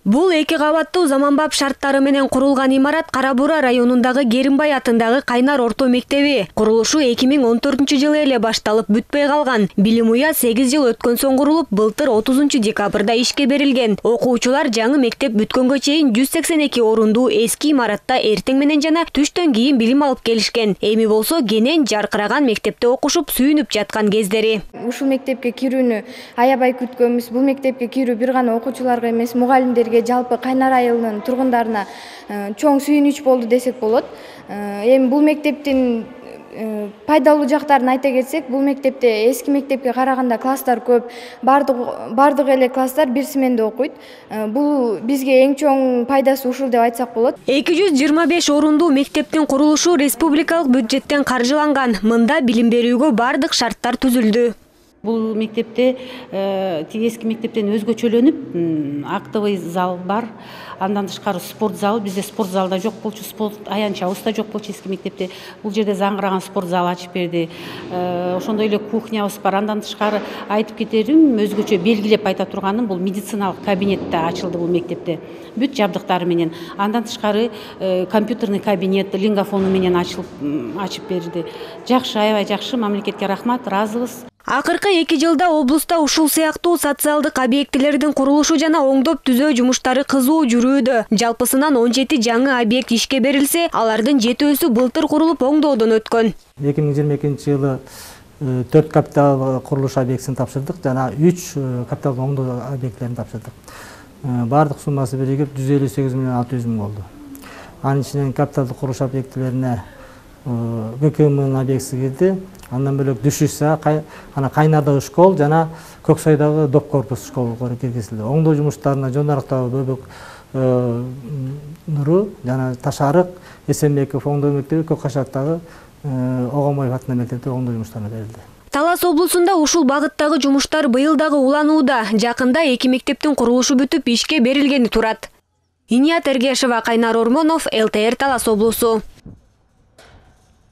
Бул эки кабаттуу заманбап шарттары менен курулган имарат Кара Буура районундагы Керимбай атындагы Кайнар орто мектеби. Курулушу 2014-жылы эле башталып бүтпөй калган. Билим уя 8 жыл өткөн соң курулуп, былтыр 30-декабрда ишке берилген. Окуучулар жаңы мектеп бүткөнгө чейин 182 орундуу эски имаратта эртең менен жана түштөн кийин билим алып келишкен. Эми болсо кенен жаркыраган мектепте окушуп, сүйүнүп жаткан кездери. Ушул мектепке кирүүнү аябай күткөнбүз. Бул мектепке кирүү бир гана окуучуларга эмес, мугалимдерге, жалпы Кайнар айылынын тургундарына чоң сүйүнүч болду десек болот. Эми бул мектептин пайдалуу жактарын айта кетсек, бул мектепте эски мектепке караганда класстар көп, бардык эле класстар бир сменде окуйт. Бул бизге эң чоң пайдасы ушул деп айтсак болот. 225 орундуу мектептин курулушу республикалык бюджеттен каржыланган. Мында билим берүүгө бардык шарттар түзүлдү. Бул мектепте эски мектептен өзгөчөлөнүп, актовый зал бар. Андан тышкары спорт залы, бизде спорт залда жок болчу, спорт аянтчабыз да жок болчу эски мектепте. Бул жерде заңгыраган спорт зал ачып берди. Ошондой эле кухнябыз бар. Андан тышкары айтып кетерим, өзгөчө белгилеп айта турганым, бул медициналык кабинет да ачылды бул мектепте. Бүт жабдыктары менен. Андан тышкары компьютерный кабинет лингофону менен ачып берди. Жакшы, аябай жакшы. Мамлекетке рахмат, ыраазыбыз. Акыркы 2 жылда облуста ушул сыяктуу социалдык объектилердин курулушу жана оңдоп түзөө жумуштары кызуу жүрүүдө. Жалпысынан 17 жаңы объект ишке берилсе, алардын 7-өсү былтыр курулуп оңдоодон өткөн. 2022-жылы 4 капитал курулуш объектисин тапшырдык жана 3 капитал оңдоо объектилерин тапшырдык. Бардык суммасы биригип 158 миллион 600 миң болду. Анын ичинен капиталдык курулуш объектилерине ГКМ объектиси кирди. Андан бөлөк Дүшүса, Кайнардагы школ жана Көксайдагы доп корпус школго киргизилди. Оңдоо жумуштарына Жонарыктагы Бөбөк Нуру жана Ташарык, Эсенбеков оңдоо мектеби, Көккашаттагы Огомоев атындагы мектепте оңдоо жумуштарына берилди. Талас облусунда ушул багыттагы жумуштар быйыл дагы уланууда. Жакында 2 мектептин курулушу бүтүп ишке берилгени турат. Иният Эргешева, Кайнар Ормонов, ЛТР Талас облусу.